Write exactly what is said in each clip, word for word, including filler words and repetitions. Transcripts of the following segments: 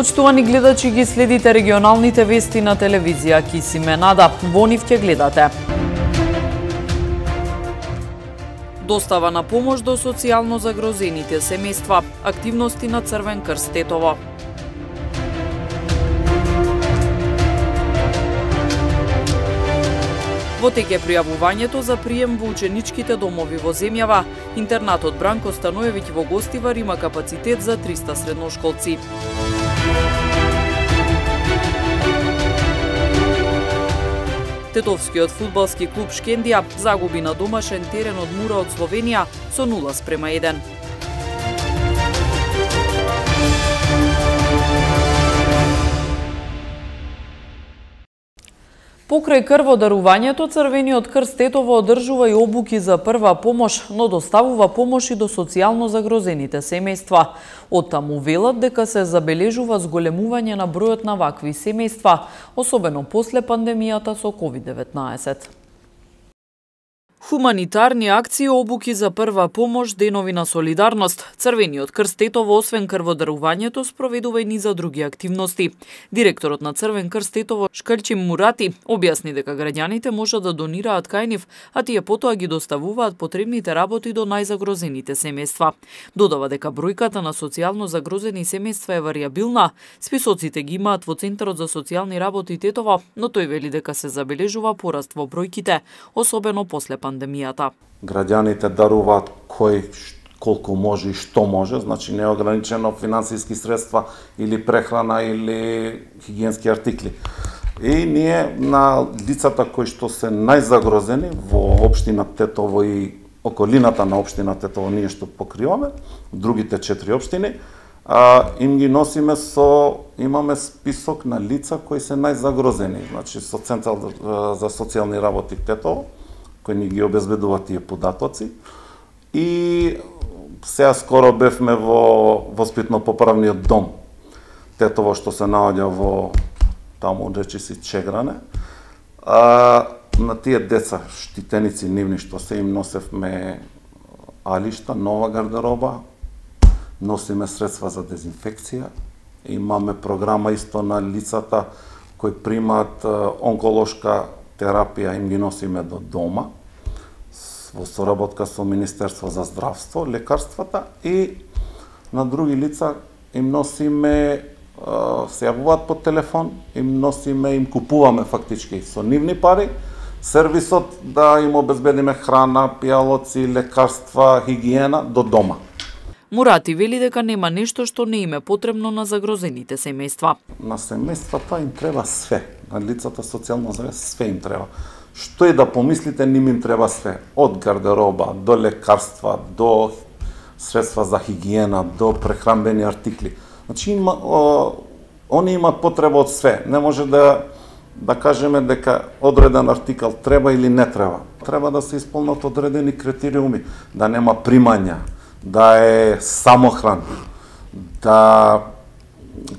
Почитувани гледачи, ги следите регионалните вести на телевизија Кисименада. Во нив ќе гледате: достава на помош до социјално загрозените семејства, активности на Црвен крст Тетово. Во тек е пријавувањето за прием во ученичките домови во земјава. Интернатот Бранко Станоевиќ во Гостивар има капацитет за триста средношколци. Тетовскиот фудбалски клуб Шкендија загуби на домашен терен од Мура од Словенија со нула спрема еден. Покрај крводарувањето, Црвениот крст Тетово одржува и обуки за прва помош, но доставува помош и до социјално загрозените семејства. Оттаму велат дека се забележува зголемување на бројот на вакви семејства, особено после пандемијата со ковид деветнаесет. Хуманитарни акции, обуки за прва помош, денови на солидарност. Црвениот крст Тетово, освен крводарувањето, спроведува и низа други активности. Директорот на Црвен крст Тетово, Шкрчим Мурати, објасни дека граѓаните можат да донираат кај нив, а тие потоа ги доставуваат потребните работи до најзагрозените семејства. Додава дека бројката на социјално загрозени семејства е варијабилна. Списоците ги имаат во Центарот за социјални работи Тетово, но тој вели дека се забележува пораст во бројките, особено после пандемијата. пандемијата. Граѓаните даруваат кој колку може и што може, значи неограничено финансиски средства или прехрана или хигиенски артикли. И ние на лицата кои што се најзагрозени во општина Тетово и околината на општина Тетово, ние што покриваме, другите четири општини, а, им ги носиме со, имаме список на лица кои се најзагрозени, значи со Центар за социјални работи Тетово, кои ни ги обезбедува тие податоци. И сега скоро бевме во воспитно-поправниот дом Тетово, што се наоѓа во таму речиси Чегране. А, на тие деца, штитеници нивни, што се им носевме алишта, нова гардероба, носиме средства за дезинфекција, имаме програма исто на лицата кои примаат онколошка терапија, им ги носиме до дома, во соработка со Министерство за здравство, лекарствата, и на други лица им носиме, се јавуваат по телефон, им носиме, им купуваме фактички со нивни пари, сервисот да им обезбедиме храна, пијалоци, лекарства, хигиена до дома. Мурати вели дека нема нешто што не им е потребно на загрозените семејства. На семејствата им треба све, на лицата социјално загрозени све им треба. Што и да помислите, ним им треба све, од гардероба до лекарства, до средства за хигиена, до прехранбени артикли. Значи има, о, они имаат потреба од све. Не може да да кажеме дека одреден артикал треба или не треба. Треба да се исполнат одредени критериуми, да нема примања, да е самохран, да,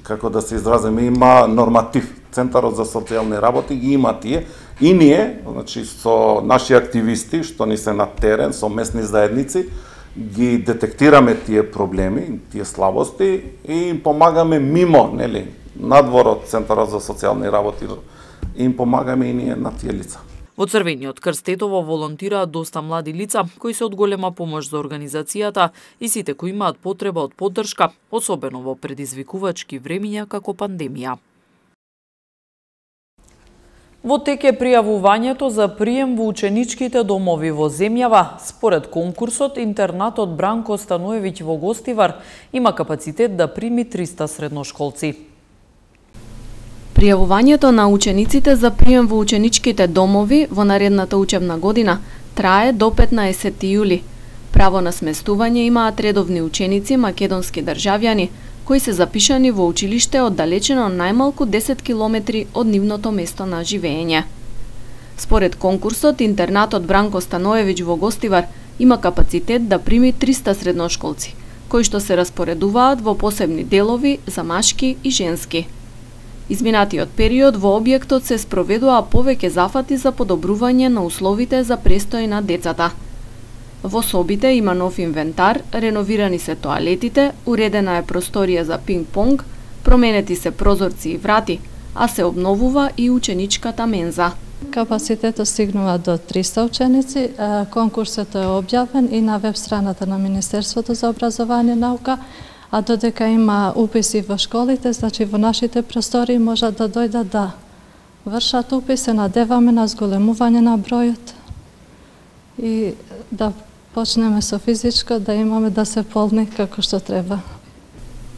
како да се изразиме, има норматив. Центарот за социјални работи ги има тие, и ние, значи со наши активисти што ни се на терен, со местни заедници, ги детектираме тие проблеми, тие слабости и им помагаме мимо, нели, надвор од Центарот за социјални работи, и им помагаме и ние на тие лица. Во Црвениот крст Тетово волонтираат доста млади лица кои се од голема помош за организацијата и сите кои имаат потреба од поддршка, особено во предизвикувачки времиња како пандемија. Во тек е пријавувањето за прием во ученичките домови во земјава. Според конкурсот, интернатот Бранко Станоевиќ во Гостивар има капацитет да прими триста средношколци. Пријавувањето на учениците за прием во ученичките домови во наредната учебна година трае до петнаесети јули. Право на сместување имаат редовни ученици македонски државјани кои се запишани во училиште оддалечено најмалку десет километри од нивното место на живење. Според конкурсот, интернатот Бранко Станоевиќ во Гостивар има капацитет да прими триста средношколци, кои што се распоредуваат во посебни делови за машки и женски. Изминатиот период во објектот се спроведува повеќе зафати за подобрување на условите за престој на децата. Во собите има нов инвентар, реновирани се тоалетите, уредена е просторија за пинг-понг, Променети се прозорци и врати, а се обновува и ученичката менза. Капацитетот стигнува до триста ученици. Конкурсот е објавен и на веб страната на Министерството за образование и наука, а додека има уписи во школите, значи во нашите простори можат да дојдат да вршат упис, се надеваме на зголемување на бројот и да почнеме со физичко, да имаме да се полни како што треба.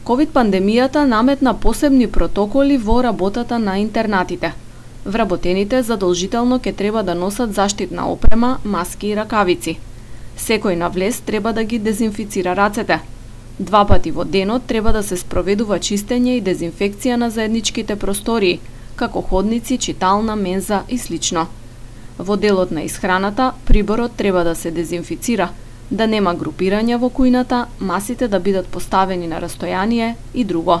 ковид пандемијата наметна посебни протоколи во работата на интернатите. Вработените задолжително ќе треба да носат заштитна опрема, маски и ракавици. Секој на влез треба да ги дезинфицира рацете. Два пати во денот треба да се спроведува чистење и дезинфекција на заедничките простории, како ходници, читална, менза и слично. Во делот на исхраната, приборот треба да се дезинфицира, да нема групирања во кујната, масите да бидат поставени на растојание и друго.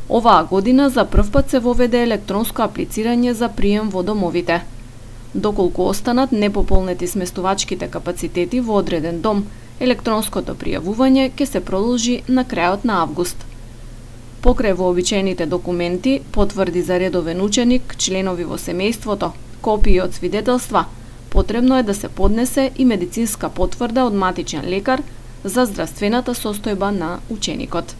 Оваа година за прв пат се воведе електронско аплицирање за прием во домовите. Доколку останат непополнети сместувачките капацитети во одреден дом, електронското пријавување ќе се продолжи на крајот на август. Покрај вообичаените документи, потврди за редовен ученик, членови во семејството, копии од свидетелства, потребно е да се поднесе и медицинска потврда од матичен лекар за здравствената состојба на ученикот.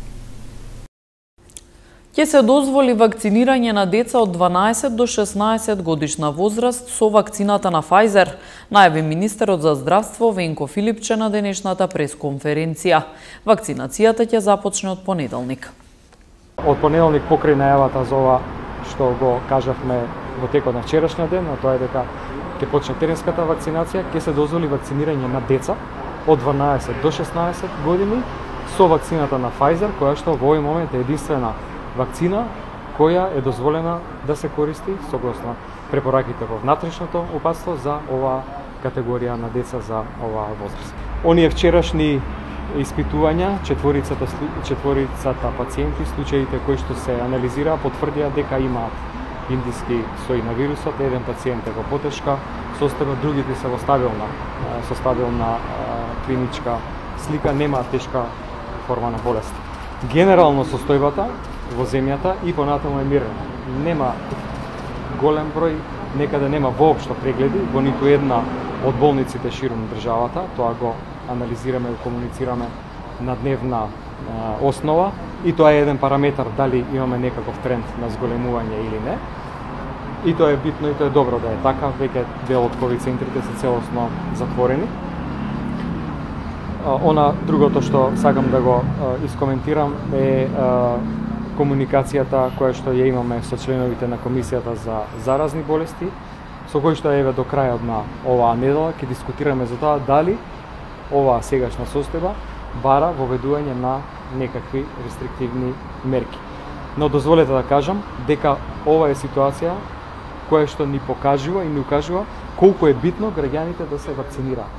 Ќе се дозволи вакцинирање на деца од дванаесет до шеснаесет годишна возраст со вакцината на Pfizer, најави министерот за здравство Венко Филипче на денешната пресконференција. Вакцинацијата ќе започне од понеделник. Од понеделник покрај најавата за ова што го кажавме во текот на вчерашниот ден, а тоа е дека ќе почне теренската вакцинација, ќе се дозволи вакцинирање на деца од дванаесет до шеснаесет години со вакцината на Pfizer, која што во овој момент е единствена вакцина која е дозволена да се користи согласно препораките во внатрешното упатство за оваа категорија на деца за оваа возраст. Оние вчерашни испитувања, четворицата четворицата пациенти, случаите кои што се анализираа, потврдија дека имаат индиски сој на вирусот, еден пациент е во потешка состојба, другите се во стабилна со стабилна клиничка слика, немаат тешка форма на болест. Генерално состојбата во земјата и понатаму е мирна. Нема голем број, некаде нема воопшто прегледи во ниту една од болниците широм државата. Тоа го анализираме и комуницираме на дневна а, основа и тоа е еден параметар дали имаме некаков тренд на зголемување или не. И тоа е битно и тоа е добро да е така, веќе дел од ковид центрите се целосно затворени. А, она другото што сакам да го а, искоментирам е а, комуникацијата која што ја имаме со членовите на Комисијата за заразни болести, со кој што еве до крајот на оваа недела ќе дискутираме за тоа дали оваа сегашна состојба бара воведување на некакви рестриктивни мерки. Но дозволете да кажам дека ова е ситуација која што ни покажува и ни укажува колку е битно граѓаните да се вакцинираат.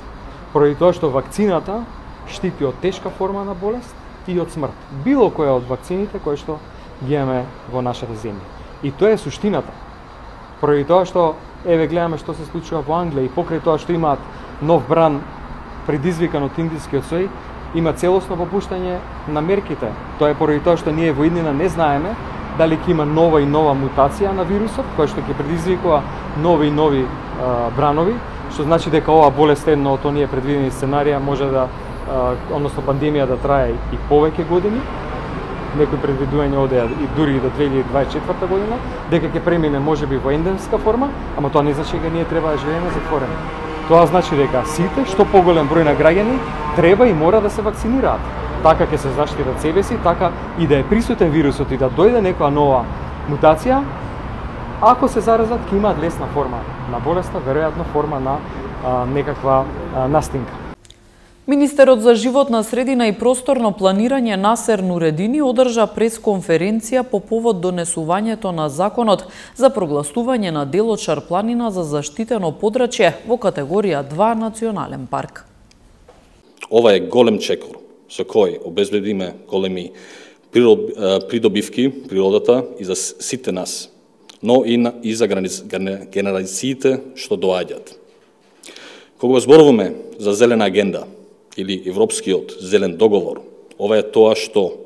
Поради тоа што вакцината штити од тешка форма на болест и од смрт. Било која од вакцините кои што ги имаме во нашата земја. И тоа е суштината. Поради тоа што еве гледаме што се случува во Англија и покрај тоа што имаат нов бран предизвикан од индискиот сој, има целосно попуштање на мерките. Тоа е поради тоа што ние во иднина не знаеме дали ќе има нова и нова мутација на вирусот, која што ќе предизвикува нови и нови а, бранови, што значи дека оваа болест едно од оние предвидени сценарија може да односно пандемија да трае и повеќе години, некои предвидувања одеа и дури и до две илјади дваесет и четврта година, дека ќе премине можеби во ендемска форма, ама тоа не значи дека ние треба да живееме затворени. Тоа значи дека сите, што поголем број на граѓани, треба и мора да се вакцинираат. Така ќе се заштитат себе си, така и да е присутен вирусот и да дојде некоја нова мутација, ако се заразат, ќе имаат лесна форма на болеста, веројатно форма на а, некаква а, настинка. Министерот за животна средина и просторно планирање Насер Нуредини одржа пресконференција по повод донесувањето на законот за прогласување на делот Шарпланина за заштитено подрачје во категорија два национален парк. Ова е голем чекор со кој обезбедиме големи придобивки природата и за сите нас, но и, на, и за генерациите што доаѓаат. Кога зборуваме за зелена агенда или Европскиот зелен договор, ова е тоа што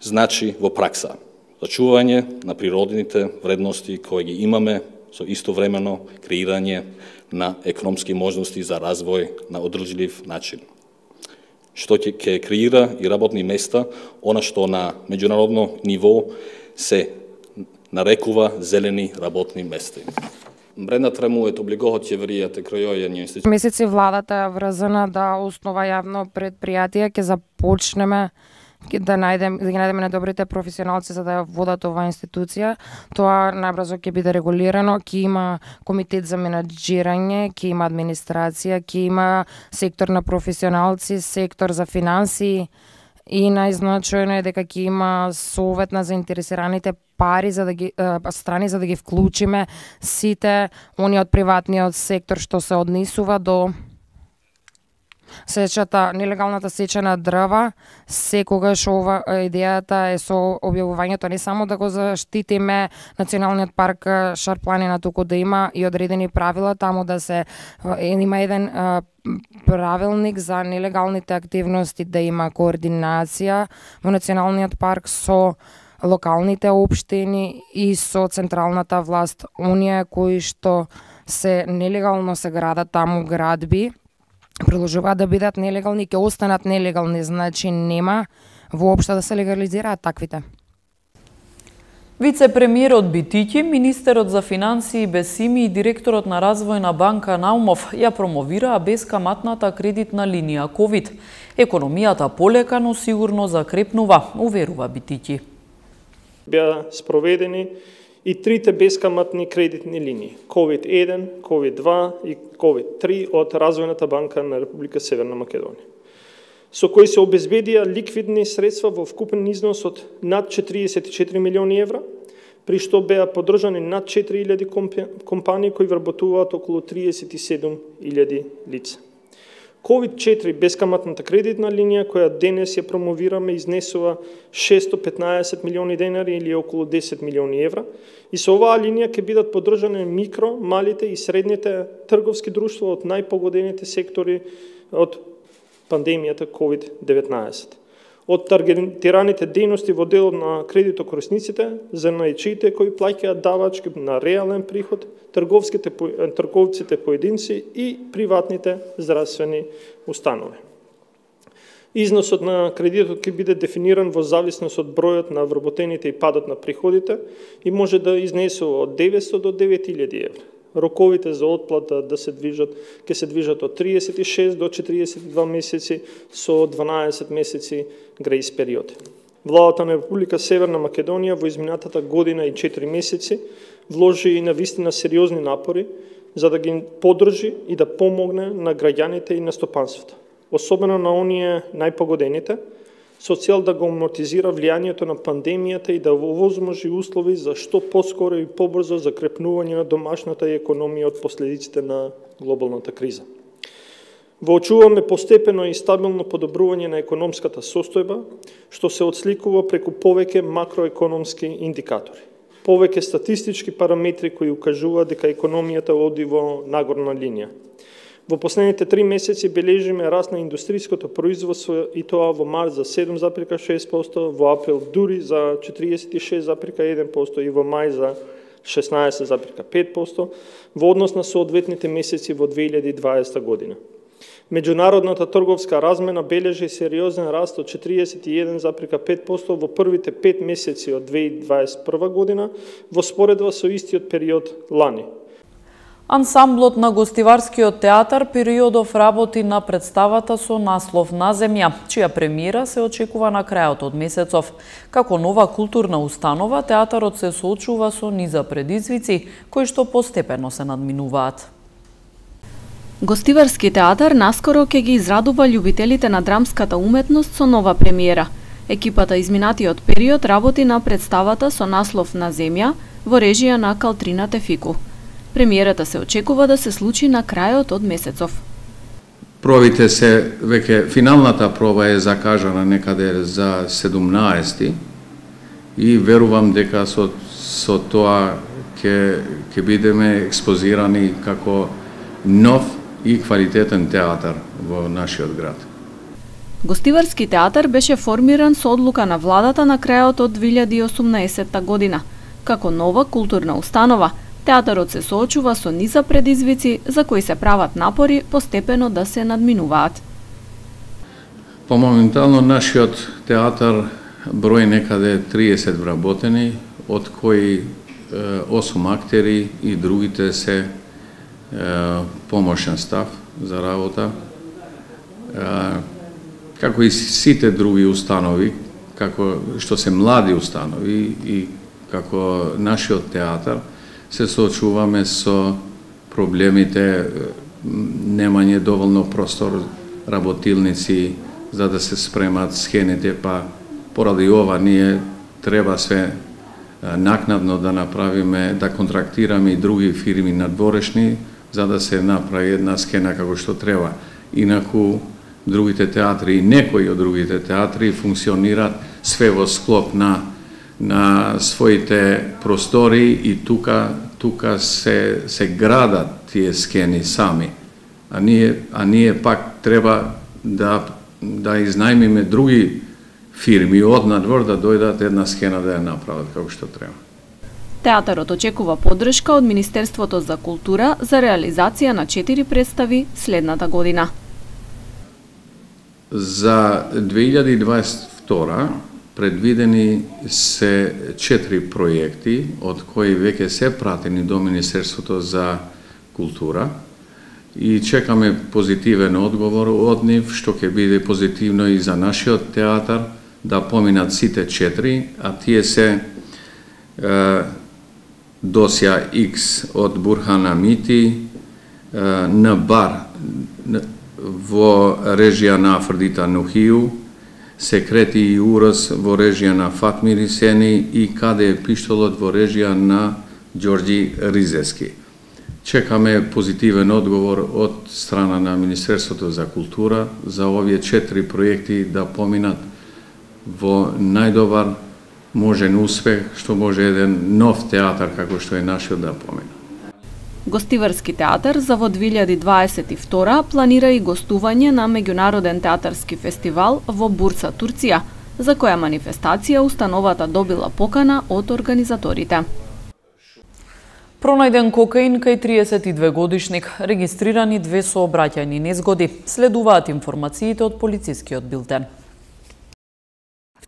значи во пракса зачување на природните вредности кои ги имаме со истовремено креирање на економски можности за развој на одржлив начин, што ќе креира и работни места, она што на меѓународно ниво се нарекува зелени работни места. Бренда тремует облигоотјевријата крајојање институции. Месеци владата е врзана да основа јавно предпријатие, ќе започнеме да најдем да ги најдеме најдобрите професионалци за да ја водат оваа институција. Тоа најбрзо ќе биде регулирано, ќе има комитет за менаџирање, ќе има администрација, ќе има сектор на професионалци, сектор за финансии и најзначајно е дека ќе има совет на заинтересираните пари за да ги е, страни за да ги вклучиме сите они од приватниот сектор што се однесува до сечата, нелегалната сеча на дрва. Секогаш ова идејата е со објавувањето не само да го заштитиме националниот парк Шар-планина, туку да има и одредени правила таму, да се има еден е, правилник за нелегалните активности, да има координација во националниот парк со локалните општини и со централната власт. Оние кои што се нелегално се градат таму градби, продолжуваат да бидат нелегални, ќе останат нелегални, значи нема воопшто да се легализираат таквите. Вице-премиерот Битиќи, министерот за финансии Бесими и директорот на развојна банка Наумов ја промовираа бескаматната кредитна линија ковид. Економијата полека, но сигурно закрепнува, уверува Битиќи. Беа спроведени и трите бескаматни кредитни линии ковид еден, ковид два и ковид три од Развојната банка на Република Северна Македонија, со кои се обезбедија ликвидни средства во вкупен износ од над четириесет и четири милиони евра, при што беа поддржани над четири илјади компании кои вработуваат околу триесет и седум илјади лица. ковид четири бескаматната кредитна линија, која денес ја промовираме, изнесува шестстотини и петнаесет милиони денари или околу десет милиони евра, и со оваа линија ќе бидат поддржани микро, малите и средните трговски друштва од најпогодените сектори од пандемијата ковид деветнаесет. Од таргетираните дејности во делот на кредитокорисниците, занајчиите кои плаќаат давачки на реален приход, трговските трговците поединци и приватните здравствени установи. Износот на кредитот ќе биде дефиниран во зависност од бројот на вработените и падот на приходите и може да изнесува од деветстотини до девет илјади евра. Роковите за отплата да се движат, ќе се движат од триесет и шест до четириесет и два месеци со дванаесет месеци грејс период. Владата на Република Северна Македонија во изминатата година и четири месеци вложи и навистина сериозни напори за да ги поддржи и да помогне на граѓаните и на стопанството, особено на оние најпогодените, со цел да го амортизира влијанието на пандемијата и да овозможи услови за што поскоро и побрзо закрепнување на домашната економија од последиците на глобалната криза. Воочуваме постепено и стабилно подобрување на економската состојба, што се отсликува преку повеќе макроекономски индикатори, повеќе статистички параметри кои укажуваат дека економијата оди во нагорна линија. Во последните три месеци бележиме раст на индустриското производство и тоа во март за седум запирка шест проценти, во април дури за четириесет и шест запирка еден проценти и во мај за шеснаесет запирка пет проценти во однос на соодветните месеци во две илјади и дваесета година. Меѓународната трговска размена бележи сериозен раст од четириесет и еден запирка пет проценти во првите пет месеци од две илјади и дваесет и прва година во споредба со истиот период лани. Ансамблот на Гостиварскиот театар периодов работи на представата со наслов На земја, чија премиера се очекува на крајот од месецов. Како нова културна установа, театарот се соочува со низа предизвици, кои што постепено се надминуваат. Гостиварски театар наскоро ќе ги израдува љубителите на драмската уметност со нова премиера. Екипата изминатиот период работи на представата со наслов На земја во режија на Калтрина Тефику. Премиерата се очекува да се случи на крајот од месецов. Пробите се, веќе финалната проба е закажана некаде за седумнаесети и верувам дека со, со тоа ќе ќе бидеме експозирани како нов и квалитетен театар во нашиот град. Гостиварски театар беше формиран со одлука на владата на крајот од две илјади и осумнаесетта година. Како нова културна установа, театарот се соочува со низа предизвици за кои се прават напори постепено да се надминуваат. По моментално нашиот театар број некаде триесет вработени, од кои осум актери и другите се е, помошен став за работа. Е, како и сите други установи, како што се млади установи и како нашиот театар, се соочуваме со проблемите немање доволно простор, работилници за да се спремат схените, па поради ова ние треба се накнадно да направиме, да контрактираме и други фирми надворешни, за да се направи една схена како што треба. Инаку другите театри и некои од другите театри функционираат све во склоп на на своите простори и тука тука се се градат тие схени сами. А ние а ние пак треба да да изнајмиме други фирми од надвор да дојдат една схена да ја направат како што треба. Театарот очекува поддршка од Министерството за култура за реализација на четири представи следната година. За две илјади дваесет и втора предвидени се четири проекти, од кои веќе се пратени до Министерството за култура и чекаме позитивен одговор од нив, што ќе биде позитивно и за нашиот театар, да поминат сите четири, а тие се е, Досја Икс од Бурхан Амити, е, Нбар во режија на Афродита Нухију, Секрети и Урос во режија на Фатми Рисени и Каде е пиштолот во режија на Ѓорѓи Ризески. Чекаме позитивен одговор од страна на Министерството за култура за овие четири проекти да поминат во најдобар можен успех, што може еден нов театар како што е нашиот да помина. Гостиварски театар за во две илјади дваесет и втора планира и гостување на меѓународен театарски фестивал во Бурса, Турција, за која манифестација установата добила покана од организаторите. Пронајден кокаин кај триесет и две годишник, регистрирани две сообраќајни незгоди, следуваат информациите од полицискиот билтен.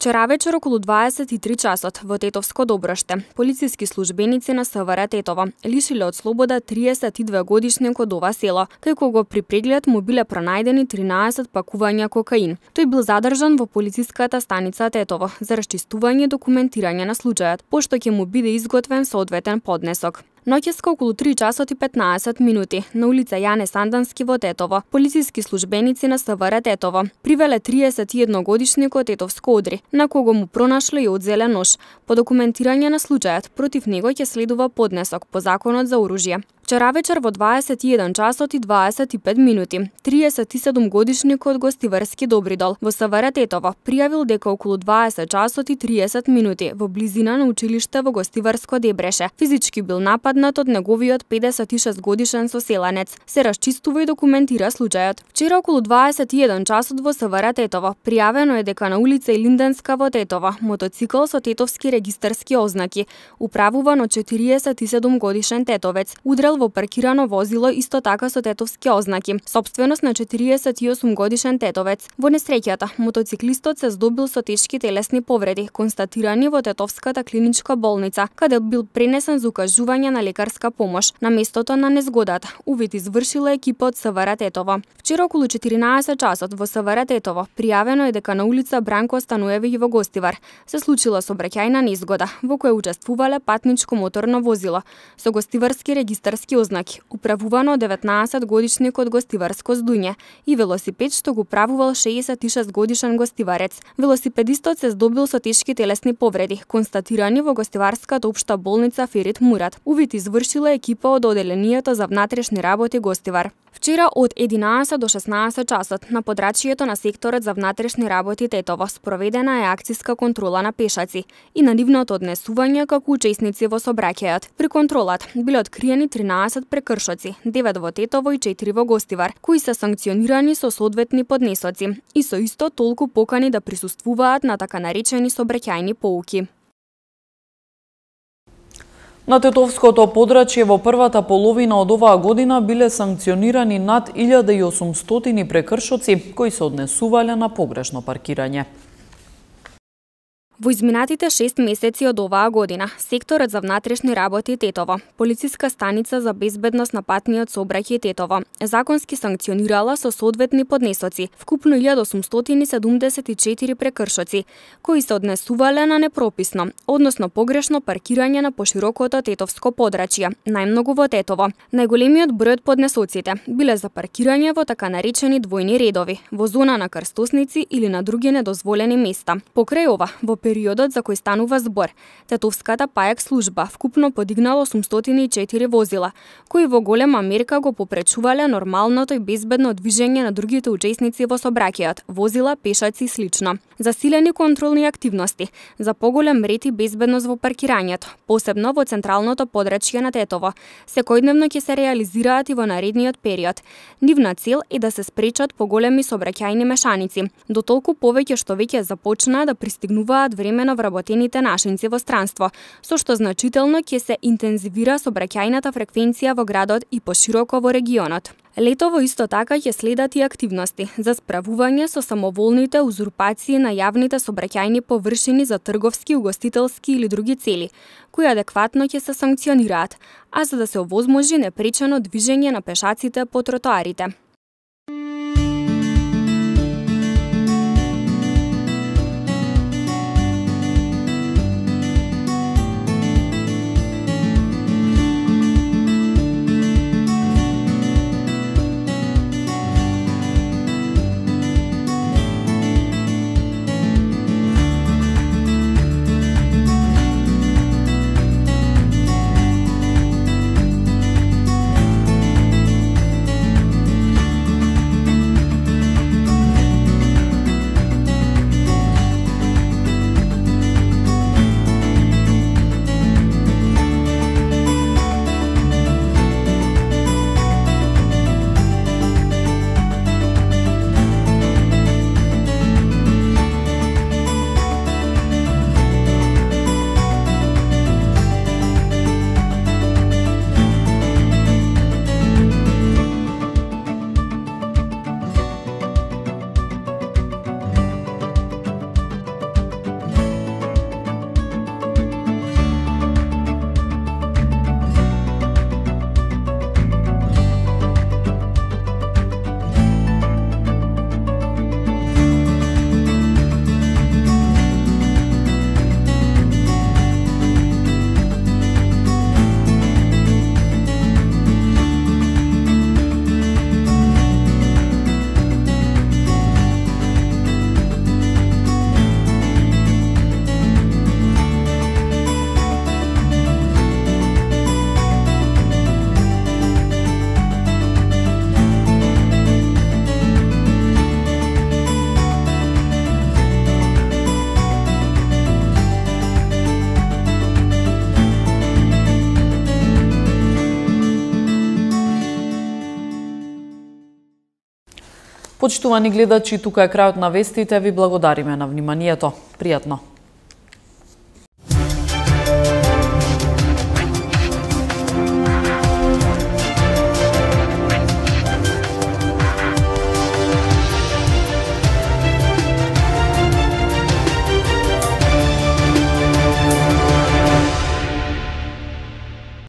Вчера вечер околу дваесет и три часот во Тетовско Доброште, полициски службеници на СВР Тетово лишиле од слобода триесет и две годишник од ова село, кај кого при преглед му биле пронајдени тринаесет пакувања кокаин. Тој бил задржан во полициската станица Тетово за расчистување и документирање на случајот, пошто ќе му биде изготвен соодветен поднесок. Ноќеска околу три часот и петнаесет минути на улица Јане Сандански во Тетово, полициски службеници на СВР Тетово привеле триесет и едногодишник од Тетовско Одри, на кого му пронашле и одзеле нож. По документирање на случајот, против него ќе следува поднесок по законот за оружје. Вчера вечер во дваесет и еден часот и дваесет и пет минути, триесет и седум годишник од Гостиварски Добридол во СВР Тетово пријавил дека околу дваесет часот и триесет минути во близина на училиште во Гостиварско Дебреше физички бил нападнат од неговиот педесет и шест годишен соселанец. Се расчистува и документира случајот. Вчера околу дваесет и еден часот во СВР Тетово пријавено е дека на улица Илинденска во Тетово мотоцикл со тетовски регистарски ознаки, управуван од четириесет и седум годишен тетовец, удрел во паркирано возило исто така со тетовски ознаки, собственост на четириесет и осум годишен тетовец. Во несреќата, мотоциклистот се здобил со тешки телесни повреди, констатирани во Тетовската клиничка болница, каде бил пренесен за укажување на лекарска помош. На местото на незгодата, увид извршила екипа од СВР Тетово. Вчера околу четиринаесет часот во СВР Тетово пријавено е дека на улица Бранко Стануевиќ во Гостивар се случила сообраќајна незгода во која учествувале патничко моторно возило со гостиварски регистарски ознаки, управувано од деветнаесет годишник од Гостиварско Здуње и велосипед што го правувал шеесет и шест годишен гостиварец. Велосипедистот се здобил со тешки телесни повреди, констатирани во Гостиварската општа болница Ферит Мурат. Увид извршила екипа од Оделението за внатрешни работи Гостивар. Вчера од единаесет до шеснаесет часот на подрачјето на секторот за внатрешни работи Тетово спроведена е акциска контрола на пешаци и на нивното однесување како учесници во сообраќајот. При контролат биле откриени тринаесет тринаесет прекршоци, девет во Тетово и четири во Гостивар, кои се санкционирани со соодветни поднесоци и со исто толку покани да присуствуваат на така наречени сообраќајни поуки. На Тетовското подрачје во првата половина од оваа година биле санкционирани над илјада и осумстотини прекршоци кои се однесувале на погрешно паркирање. Во изминатите шест месеци од оваа година, секторот за внатрешни работи Тетово, полициска станица за безбедност на патниот сообраќај Тетово, законски санкционирала со соодветни поднесоци вкупно илјада осумстотини седумдесет и четири прекршоци, кои се однесувале на непрописно, односно погрешно паркирање на поширокото Тетовско подрачје, најмногу во Тетово. Најголемиот број од поднесоците биле за паркирање во така наречени двојни редови, во зона на крстосници или на други недозволени места. Покрај ова, во периодот за кој станува збор, Тетовската паек служба вкупно подигнала осумстотини и четири возила, кои во голема мерка го попречувале нормалното и безбедно движење на другите учесници во сообраќајот, возила, пешаци и слично. Засилени контролни активности за поголем ред и безбедност во паркирањето, посебно во централното подрачје на Тетово, секојдневно ќе се реализираат и во наредниот период. Нивна цел е да се спречат поголеми сообраќајни мешаници, дотолку повеќе што веќе започнаа да пристигнуваат времено вработените нашинци во странство, со што значително ќе се интензивира сообраќајната фреквенција во градот и пошироко во регионот. Летово исто така ќе следат и активности за справување со самоволните узурпации на јавните сообраќајни површини за трговски, угостителски или други цели, кои адекватно ќе се санкционираат, а за да се овозможи непречено движење на пешаците по тротоарите. Почитувани гледачи, тука е крајот на вестите, ви благодариме на вниманието. Пријатно!